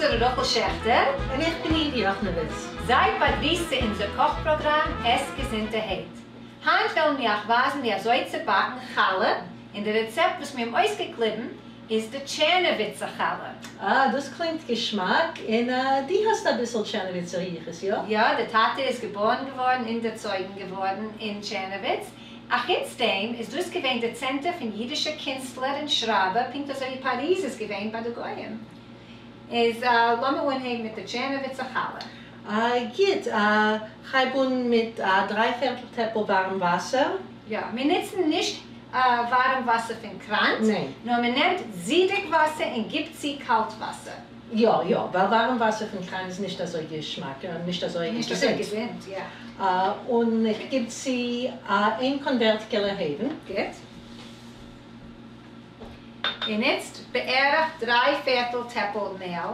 שרה רחל שעכטער. און איך בין איווי יאכנעוויץ. זייט באגריסט צו אונזער קאך פראגראם עס געזונטערהייט. היינט וועלן מיר אייך ווייזן ווי אזוי צו באקן חלה, און די רעצעפט וואס מיר האבן אויסגעקליבן איז די טשערנאוויצער חלה. אה, דאס קלינגט געשמאק, און דו האסט אביסל טשערנאוויצער יחוס, יא? יא, די טאטע איז געבארן געווארן און דערצויגן געווארן אין טשערנאוויץ. אחוץ דעם איז דאס געווען די צענטער פון אידישע קינסטלער און שרייבער, פונקט אזוי ווי פאריז איז געווען ביי די גוים. איז לאמיר אנהייבן מיט די טשערנאוויצער חלה. גוט, כ'הייב אן מיט א דריי פערטל טעפל ווארעם וואסער. יא, מיר נוצן נישט ווארעם וואסער פון קראנט, נאר מען נעמט זידיג וואסער און גיבט צו קאלט וואסער. יא יא, ווייל ווארעם וואסער פון קראן איז נישט אזוי געשמאק, נישט אזוי נישט אזוי געזונט, יא. און איך גיב צו איין קאנווערט געלע הייוון. גוט. און איצט בערך דריי פערטל טעפל מעל.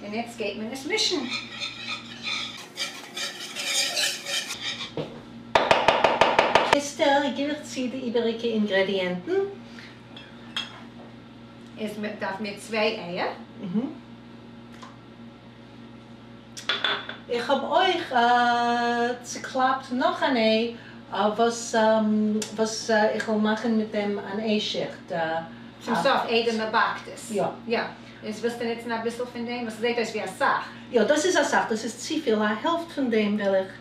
און איצט גייט מען עס מישן. איצטער גיב איך צו די איבעריגע אינגרעדיענטן. איז מען דארף מיר צוויי אייער. איך האב אויך צוקלאפט נאך אן איי וואס וואס איך וועל מאכן מיט דעם אן איי שיכט. צום סוף איידער מען באקט עס. יא. יא. איז ווילסטו נוצן אביסל פון דעם? וואס זעט אויס ווי אסאך. יא דאס איז אסאך, דאס איז צופיל, א העלפט פון דעם וועל איך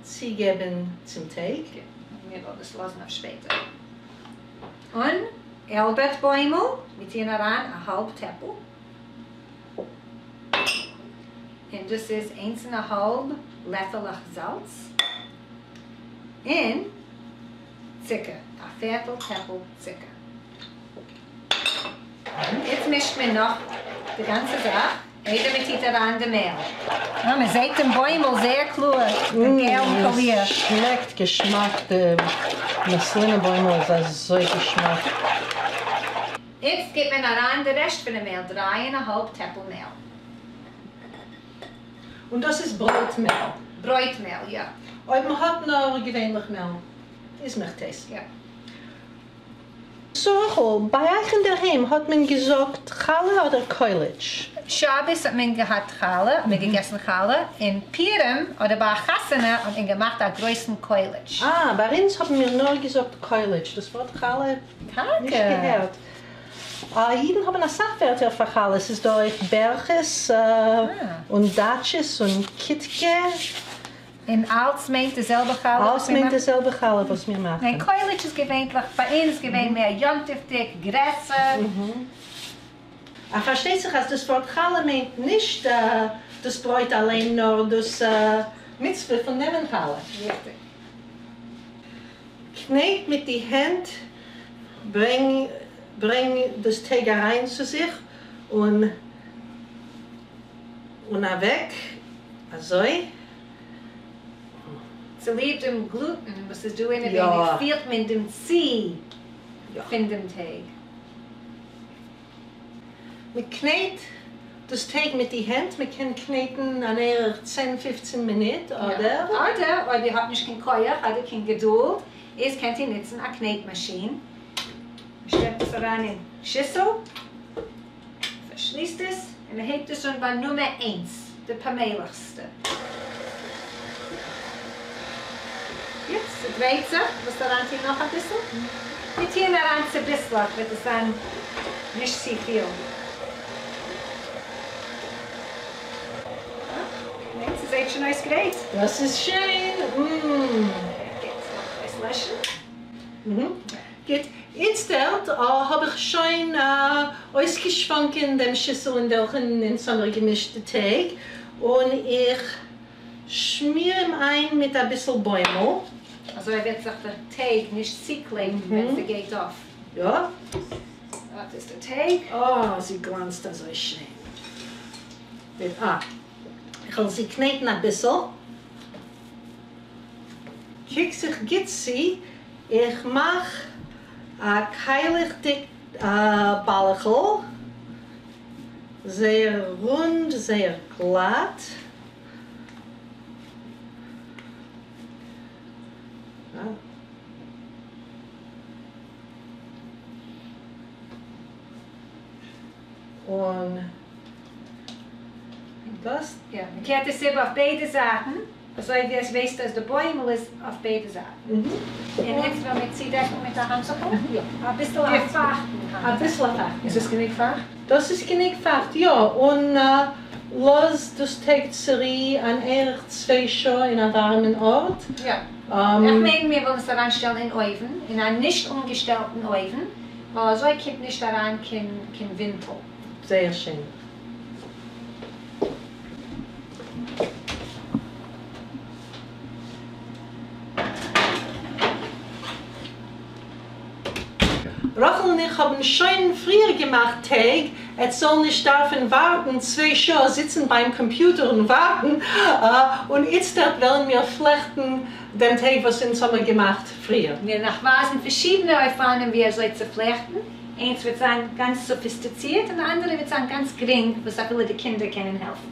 צוגעבן צום טייג. גוט, מיר וועלן דאס לאזן אויף שפעטער. און איילבערט בוימל, מיר טוען אריין א האלב טעפל. און דאס איז איינס און א האלב לעפעלעך זאלץ, און צוקער, א פערטל טעפל צוקער. איצט מישט מען נאך די גאנצע זאך איידער מען טוט אריין די מעל. אה, מען זעט דעם בוימל זייער קלאר, דעם געלן קאליר. עס שמעקט געשמאק, די מאסלינע בוימל איז אזוי געשמאק. איצט גיט מען אריין די רעשט פונעם מעל, דריי און א האלב טעפל מעל. און דאס איז ברויט מעל? ברויט מעל, יא. אויב מען האט נאר געווענליך מעל איז מאכט עס. יא. שרה רחל, ביי אייך אינדערהיים האט מען געזאגט חלה אדער קויליטש? שבת האט מען געהאט חלה, האט מען געגעסן חלה, און פורים אדער ביי א חתונה האט מען געמאכט א גרויסן קויליטש. אה, ביי אונז האבן מיר נאר געזאגט קויליטש, דאס ווארט חלה נישט געהערט. אידן האבן אסאך ווערטער פאר חלה, ס'איז דא אויך בערכעס און דאטשעס און קיטקע. און אלץ מיינט די זעלבע חלה וואס מיר מאכן? אלץ מיינט די זעלבע חלה וואס מיר מאכן. ניין, קויליטש איז געווענטליך ביי אונז געווען מער יום טוב'דיג, גרעסער. פארשטייט זיך אז דאס ווארט חלה מיינט נישט דאס ברויט אליין נאר דאס מצוה פון נעמען חלה. ריכטיג. קנעט מיט די הענט, ברענג ברענג דאס טייג אריין צו זיך און און אוועק, אזוי. צוליב דעם גלוטן וואס איז דא אינעווייניג פילט מען דעם צי פון דעם טייג. מען קנעט דאס טייג מיט די הענט, מען קען קנעטן אן ערך צען פופצן מינוט אדער. אדער אויב איר האט נישט קיין כח אדער קיין געדולד איז קענט איר נוצן א קנעט מאשין. מען שטעקט עס אריין אין שיסל, פארשליסט עס, און מען הייבט עס אן ביי נומער איינס, די פאמעליכסטע. גוט, ס'דרייט זיך, ווילסט אריינטון נאך אביסל? מיר טוען אריין צוביסלעך וועט עס זיין נישט צופיל. ניין, ס'זעט שוין אויס גרייט. דאס איז שיין! אםמ. גוט, לאמיר אויסלעשן. גוט, איצטערט האב איך שוין אויסגעשוואנקען דעם שיסל אין וועלכן אונז האמיר געמישט די טייג, און איך שמיר אים איין מיט אביסל בוימל. אזוי וועט זיך די טייג נישט צוקלעבן ווען ס'גייט אויף. יא. אט איז די טייג. אה, זי גלאנצט אזוי שיין. אה, איך וועל זי קנעטן אביסל. קוק זיך גוט צו, איך מאך א קיילעכדיג באלעכל, זייער רונד, זייער גלאט. און דאס. יא, מען קערט עס איבער אויף ביידע זייטן, אזוי ווי עס ווייסט אז די בוימל איז אויף ביידע זייטן. און איצט וועלן מיר צודעקן מיט א האנטוכ'ל, אביסל א פייכטן האנטוך. אביסל א פייכטן. איז עס גענוג פייכט? דאס איז גענוג פייכט, יא, און לאז דאס טייג צורו אן ערך צוויי שעה אין א ווארעמען ארט. יא. איך מיין מיר וועלן עס אריינשטעלן אין אויוון, אין א נישט אנגעשטעלטן אויוון, ווייל אזוי קומט נישט אריין קיין ווינטל. זייער שיין. רחל און איך האבן שוין פריער געמאכט טייג, עטס זאל נישט דארפן ווארטן צוויי שעה זיצן ביים קאמפיוטער און ווארטן, און איצטערט וועלן מיר פלעכטן דעם טייג וואס אונז האמיר געמאכט פריער. מיר נאך ווייזן פארשידענע אופנים ווי אזוי צו פלעכטן, איינס וועט זיין גאנץ סאפיסטיצירט און די אנדערע וועט זיין גאנץ גרינג וואס אפילו די קינדער קענען העלפן.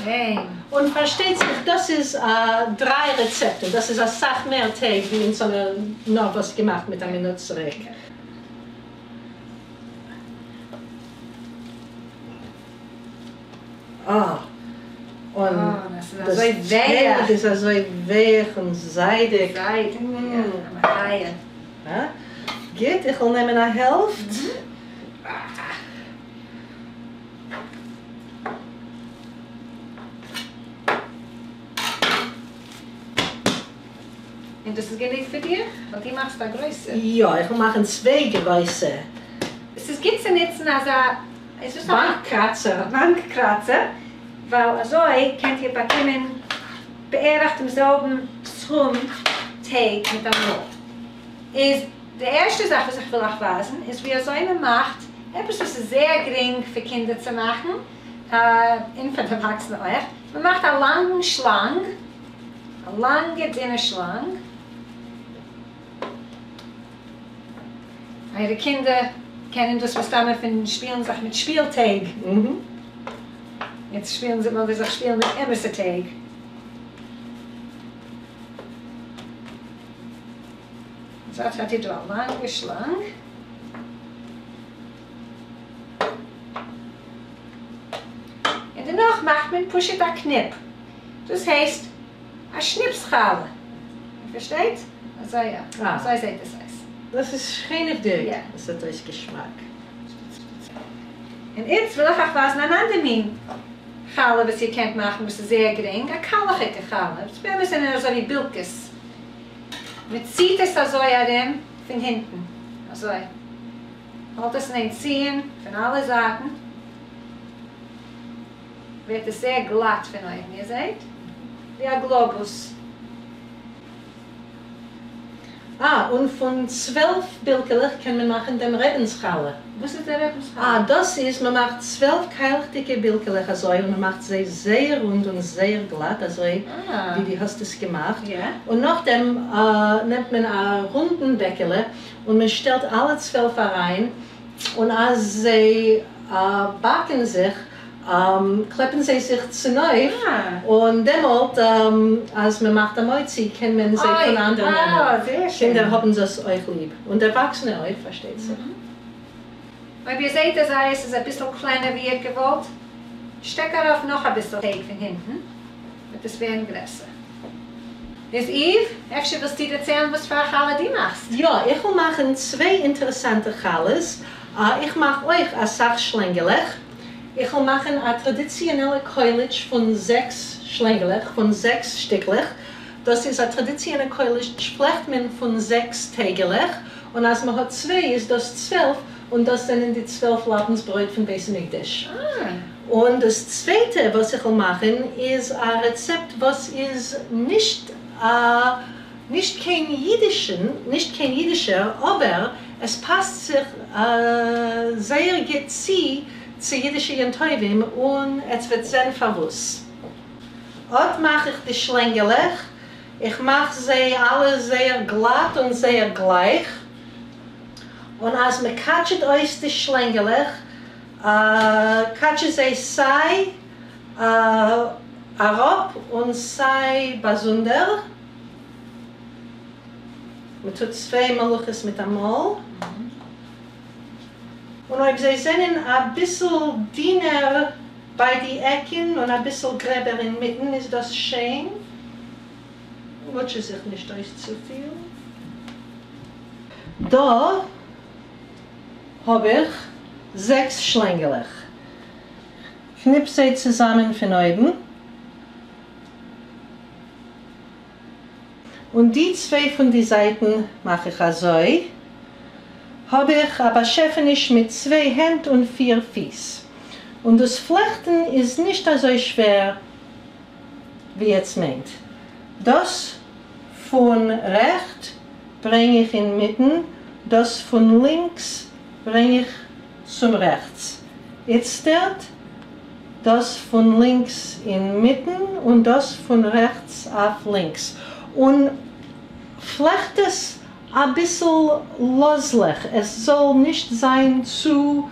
שיין. און פארשטייט זיך דאס איז דריי רעצעפטן, דאס איז אסאך מער טייג ווי אונז האמיר נארוואס געמאכט מיט א מינוט צוריק. אה, און דאס טייג איז אזוי ווייך און זיידיג. זיידיג, יא, א מחיה. גוט, איך וועל נעמען א העלפט. און דאס איז גענוג פאר דיר? ווייל דו מאכסט א גרויסע. יא, איך וועל מאכן צוויי גרויסע. עס איז גוט צו נוצן אזא, איז דאס א. באנק קראצער. באנק קראצער, ווייל אזוי קענט איר באקומען בערך דעם זעלבן סכום טייג מיט אמאל. איז די ערשטע זאך וואס איך וויל אייך ווייזן איז ווי אזוי מען מאכט עפעס וואס איז זייער גרינג פאר קינדער צו מאכן, און פאר דערוואקסענע אויך, מען מאכט א לאנגן שלאנג, א לאנגע דינע שלאנג, אייערע קינדער קענען דאס מסתמא פון שפילן זיך מיט שפיל טייג, יעצט שפילן זיי וועלן זיי זיך שפילן מיט אמת'ע טייג. אזוי האט איר דא א לאנגע שלאנג. און דערנאך מאכט מען פשוט א קניפ, דאס הייסט א שניפס חלה, איר פארשטייט? אזוי יא, אזוי זעט עס אויס. דאס איז שכנות'דיג, עס זעט אויס געשמאק. און איצט וויל איך אייך ווייזן אן אנדער מין חלה וואס איר קענט מאכן וואס איז זייער גרינג, א קיילעכיגע חלה, וואס באמת זענען אזוי ווי בילקעס, מען ציט עס אזוי ארום פון הינטן, אזוי. האלט עס אין איין ציען פון אלע זייטן, ווערט עס זייער גלאט פון אויבן, איר זעהט? ווי א גלאבוס. אה, און פון 12 בילקעלעך קען מען מאכן דעם רעבינ'ס חלה. וואס איז דער רעבינ'ס חלה? אה, דאס איז, מען מאכט 12 קיילעכדיגע בילקעלעך אזוי, און מען מאכט זיי זייער רונד און זייער גלאט, אזוי ווי דו האסט עס געמאכט, און נאכדעם נעמט מען א רונדן בעקעלע, און מען שטעלט אלע 12 אריין, און אז זיי באקן זיך, קלעפן זיי זיך צונויף, און דעמאלט אז מען מאכט א מוציא קען מען זיי פונאנדער נעמען. קינדער האבן דאס אויך ליב, און דערוואקסענע אויך פארשטייט זיך. אויב איר זעט אז אייערס איז אביסל קלענער ווי איר האט געוואלט, שטעק ארויף נאך אביסל טייג פון הינטן, וועט עס ווערן גרעסער. איז איוו, אפשר ווילסטו דערציילן וואס פאר א חלה דו מאכסט? יא, איך וויל מאכן צוויי אינטערעסאנטע חלות. איך מאך אויך אסאך שלענגעלעך. איך וויל מאכן א טראדיציאנעלע קויליטש פון זעקס שלענגעלעך, פון זעקס שטיקלעך. דאס איז א טראדיציאנע קויליטש פלעכט מען פון זעקס טייגעלעך, און אז מען האט צוויי איז דאס 12, און דאס זענען די 12 לאפנס ברויט פון בית המקדש. און דאס צווייטע וואס איך וויל מאכן איז א רעצעפט וואס איז נישט א נישט קיין אידישן, נישט קיין אידישער, אבער עס פאסט זיך זייער גוט צו צו אידישע יום טובים, און עטס וועט זען פארוואס. אט מאך איך די שלענגעלעך, איך מאך זיי אלע זייער גלאט און זייער גלייך, און אז מען קאטשעט אויס די שלענגעלעך, קאטשע זיי סיי אראפ און סיי באזונדער. מ'טוט צוויי מלאכות מיט אמאל. און אויב זיי זענען אביסל דינער ביי די עקן און אביסל גרעבער אינמיטן איז דאס שיין. מוטשע זיך נישט אויס צופיל. דא האב איך זעקס שלענגעלעך. קניפ זיי צוזאמען פון אויבן. און די צוויי פון די זייטן מאך איך אזוי, האב איך א באשעפעניש מיט צוויי הענט און פיר פיס. און דאס פלעכטן איז נישט אזוי שווער ווי עטס מיינט. דאס פון רעכט ברענג איך אינמיטן, דאס פון לינקס ברענג איך צום רעכטס. איצטערט דאס פון לינקס אינמיטן און דאס פון רעכטס אויף לינקס. און פלעכט עס אביסל לאזלעך, עס זאל נישט זיין צו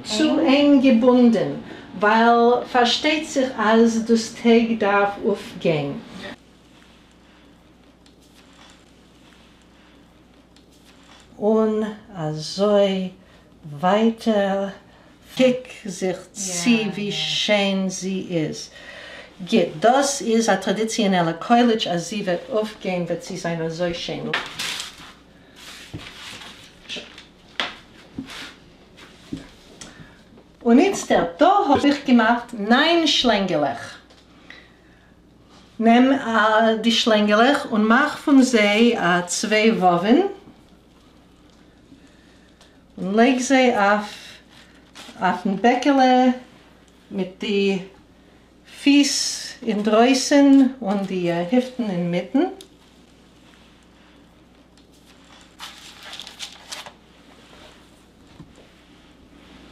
צו ענג געבונדען, ווייל פארשטייט זיך אז דאס טייג דארף אויפגיין. און אזוי ווייטער. קוק זיך צו ווי שיין זי איז. גוט, דאס איז א טראדיציאנעלע קויליטש, אז זי וועט אויפגיין וועט זי זיין אזוי שיין. און איצטערט, דא האב איך געמאכט ניין שלענגעלעך. נעם די שלענגעלעך און מאך פון זיי צוויי וואווען, און לייג זיי אויף אויפן בעקעלע מיט די פיס אינדרויסן און די היפטן אינמיטן.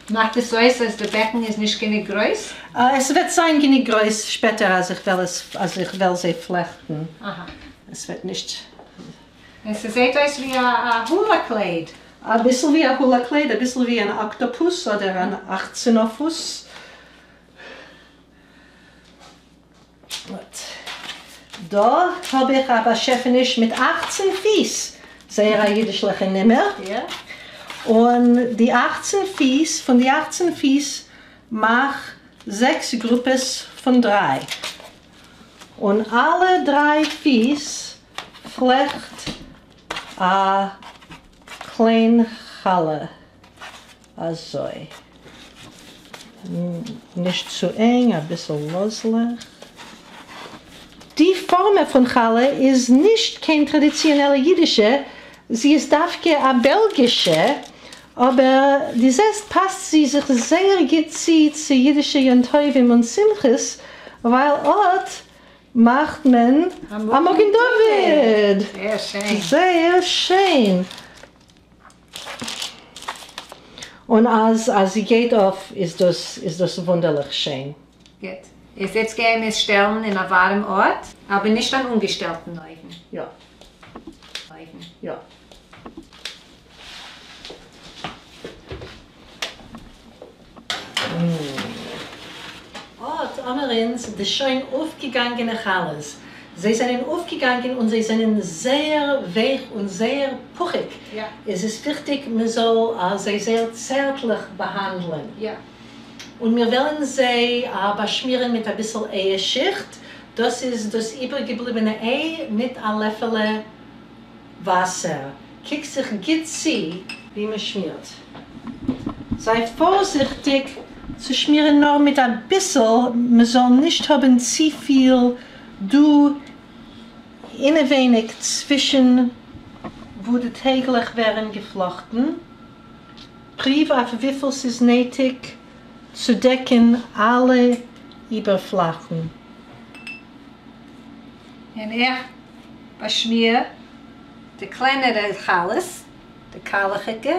מאכט עס אויס אז די בעקן איז נישט גענוג גרויס? עס וועט זיין גענוג גרויס שפעטער אז איך וועל עס אז איך וועל זיי פלעכטן. עס וועט נישט. עס זעהט אויס ווי א הולא קלייד. אביסל ווי א הולא קלייד, אביסל ווי אן אקטאפוס אדער אן אכצענאפוס. דא האב איך א באשעפעניש מיט אכצן פיס, זייער א אידישליכע נומער, און די אכצן פיס, פון די אכצן פיס מאך זעקס גרופעס פון דריי, און אלע דריי פיס פלעכט א קליין חלה אזוי. נישט צו ענג, אביסל לאזלעך. די פארמע פון חלה איז נישט קיין טראדיציאנעלע אידישע, זי איז דווקא א בעלגישע, אבער די זעסט פאסט זי זיך זייער גוט צו צו אידישע יום טובים און שמחות, ווייל אט מאכט מען א מגן דוד! זייער שיין! זייער שיין! און אז אז זי גייט אויף איז דאס איז דאס וואונדערליך שיין. גוט. איז איצט גייען מיר עס שטעלן אין א ווארעם ארט, אבער נישט אן אנגעשטעלטן אויוון. יא. אויוון. יא. אָט האָמער אונז די שוין אויפגעגאנגענע חלות. זיי זענען אויפגעגאנגען און זיי זענען זייער ווייך און זייער פוכיג. עס איז וויכטיג מען זאל זיי זייער צערטליך באהאנדלען. און מיר וועלן זיי באשמירן מיט אביסל אייער-שיכט, דאס איז דאס איבערגעבליבענע איי מיט א לעפעלע וואסער. קוק זיך גוט צו ווי מען שמירט. זיי פארזיכטיג צו שמירן נאר מיט אביסל, מען זאל נישט האבן צופיל דא אינעווייניג צווישן וואו די טייגלעך ווערן געפלאכטן. פריוו אויף וויפיל ס'איז נעטיג צו דעקן אלע איבערפלאכן. און איך באשמיר די קלענערע חלות, די קיילעכיגע,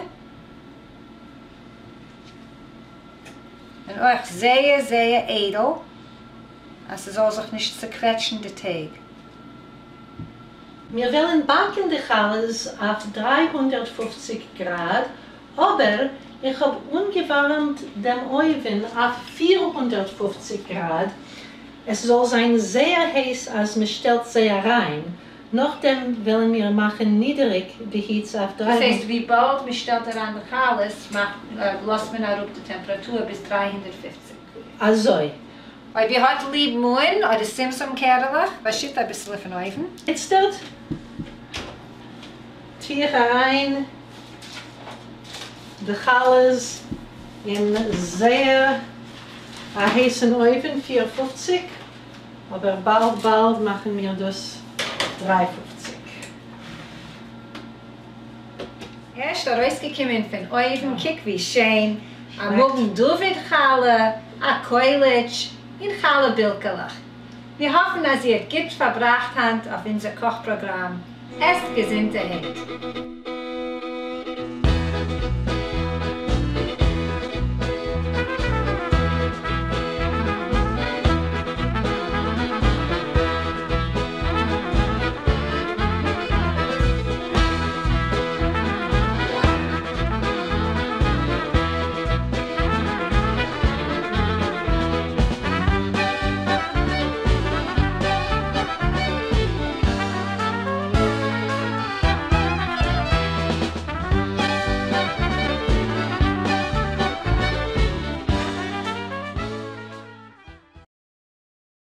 און אויך זייער זייער איידל אז ס'זאל זיך נישט צוקוועטשן די טייג. מיר וועלן באקן די חלות אויף 350 גראד, אבער איך האב אנגעווארעמט דעם אויוון אויף 450 גראד, עס זאל זיין זייער הייס אז מען שטעלט זיי אריין, נאכדעם וועלן מיר מאכן נידעריג די היץ אויף דאס הייסט וויבאלד מען שטעלט אריין די חלות מאכט לאזט מען אראפ די טעמפראטור ביז 350. אזוי. אויב איר האט ליב מאן אדער שומשום קערעלעך, באשיט אביסעלע פון אויבן. איצטערט טו איך אריין די חלות אין זייער א הייסן אויוון, 450, אבער באלד באלד מאכן מיר דאס 350. ערשט ארויסגעקומען פון אויוון, קוק ווי שיין, א מגן דוד חלה, א קויליטש, און חלה בילקעלעך. מיר האפן אז איר האט גוט פארבראכט היינט אויף אונזער קאך פראגראם. עסט געזונטערהייט.